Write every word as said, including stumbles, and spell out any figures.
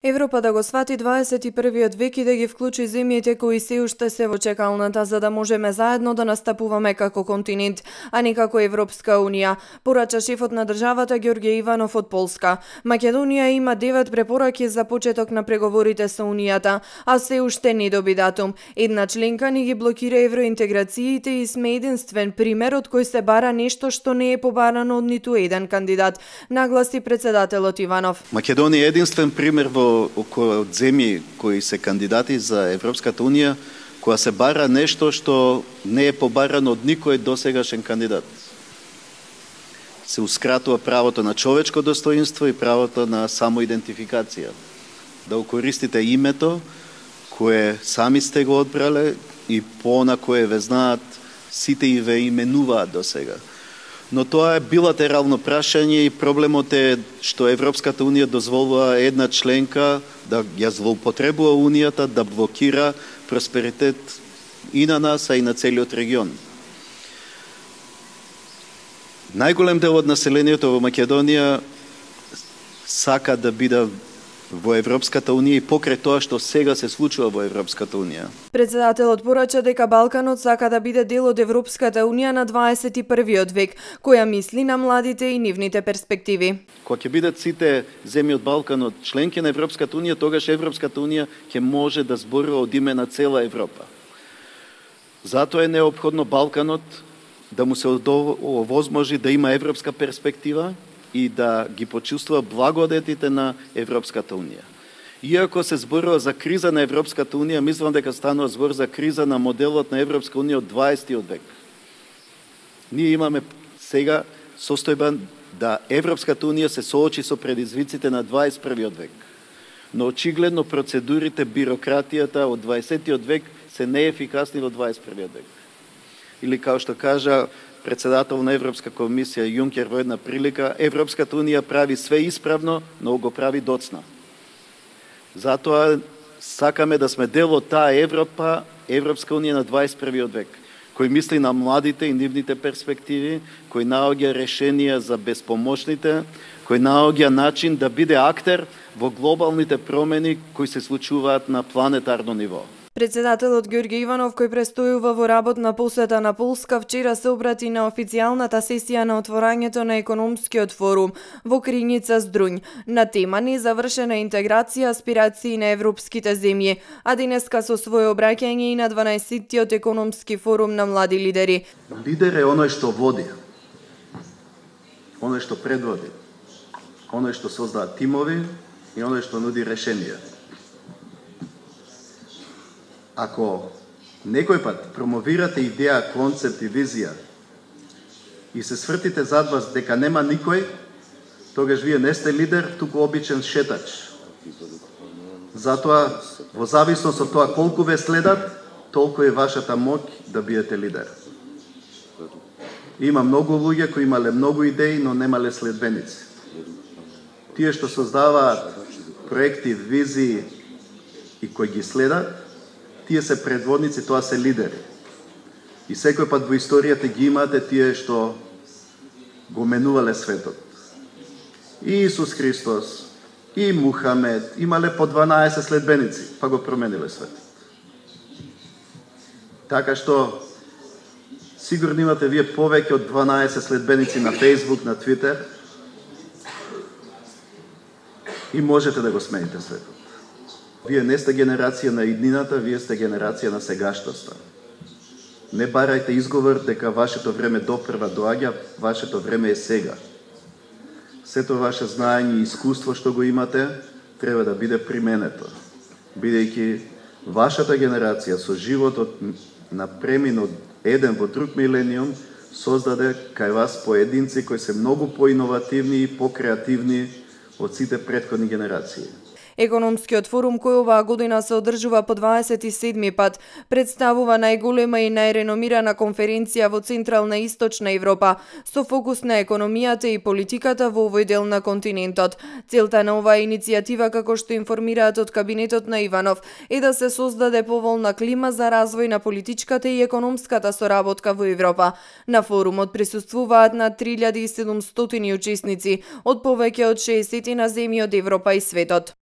Европа да го свати дваесет и првиот век и да ги вклучи земјите кои се уште се во чекалната, за да можеме заедно да настапуваме како континент, а не како Европска унија, порача шефот на државата Ѓорѓе Иванов од Полска. Македонија има девет препораки за почеток на преговорите со Унијата, а се уште не доби датум. Една членка ни ги блокира евроинтеграциите и сме единствен пример од кој се бара нешто што не е побарано од ниту еден кандидат, нагласи председателот Иванов. Македонија е единствен пример во околу земји кои се кандидати за Европската унија, која се бара нешто што не е побарано од никој досегашен кандидат. Се ускратува правото на човечко достоинство и правото на самоидентификација. Да укористите името кое сами сте го одбрале и по на кое ве знаат, сите и ве именуваат досега. Но тоа е билатерално прашање и проблемот е што Европската унија дозволува една членка да ја злоупотребува унијата, да блокира просперитет и на нас, а и на целиот регион. Најголем дел од населението во Македонија сака да биде во Европската унија и покрај тоа што сега се случува во Европската унија. Председателот порача дека Балканот сака да биде дел од Европската унија на дваесет и првиот век, која мисли на младите и нивните перспективи. Кога ќе бидат сите земји од Балканот членки на Европската унија, тогаш Европската унија ќе може да зборува од име на цела Европа. Затоа е неопходно Балканот да му се овозможи да има европска перспектива и да ги почувствува благодетите на Европската унија. Иако се зборува за криза на Европската унија, мислам дека станува збор за криза на моделот на Европска унија од дваесеттиот век. Ние имаме сега состојба да Европската унија се соочи со предизвиците на дваесет и првиот век. Но очигледно процедурите, бирократијата од дваесеттиот век се неефикасни во дваесет и првиот век. Или као што кажа председател на Европска комисија Јункер во една прилика, Европската унија прави све исправно, но го прави доцна. Затоа сакаме да сме дел од таа Европа, Европска унија на дваесет и првиот век, кој мисли на младите и нивните перспективи, кој наоѓа решенија за безпомошните, кој наоѓа начин да биде актер во глобалните промени кои се случуваат на планетарно ниво. Председателот Ѓорѓе Иванов, кој престојува во работна посета на Полска, вчера се обрати на официјалната сесија на отворањето на економскиот форум во Крињица Здрунј на тема незавршена интеграција, аспирации на европските земји, а денеска со своје обраќање и на дванаесеттиот економски форум на млади лидери. Лидер е оној што води, оној што предводи, оној што создава тимови и оној што нуди решенија. Ако некој пат промовирате идеја, концепт и визија и се свртите зад вас дека нема никој, тогаш вие не сте лидер, туку обичен шетач. Затоа, во зависност од тоа колку ве следат, толку е вашата моќ да биете лидер. Има многу луѓе кои имале многу идеи, но немале следбеници. Тие што создаваат проекти, визии и кои ги следат, тие се предводници, тоа се лидери. И секој пат во историјата ги имате тие што го менувале светот. И Исус Христос, и Мухамед, имале по дванаесет следбеници, па го промениле светот. Така што, сигурно имате вие повеќе од дванаесет следбеници на Facebook, на Twitter, и можете да го смените светот. Вие не сте генерација на иднината, вие сте генерација на сегаштоста. Не барајте изговор дека вашето време допрва доаѓа, вашето време е сега. Сето ваше знаење и искуство што го имате, треба да биде применето. Бидејќи вашата генерација со животот на премин од еден во друг милениум, создаде кај вас поединци кои се многу поиновативни и покреативни од сите претходни генерации. Економскиот форум, кој оваа година се одржува по дваесет и седми пат, представува најголема и најреномирана конференција во Централна и Источна Европа, со фокус на економијата и политиката во овој дел на континентот. Целта на оваа иницијатива, како што информираат од кабинетот на Иванов, е да се создаде поволна клима за развој на политичката и економската соработка во Европа. На форумот присуствуваат над три илјади и седумстотини учесници од повеќе од шеесет земји од Европа и светот.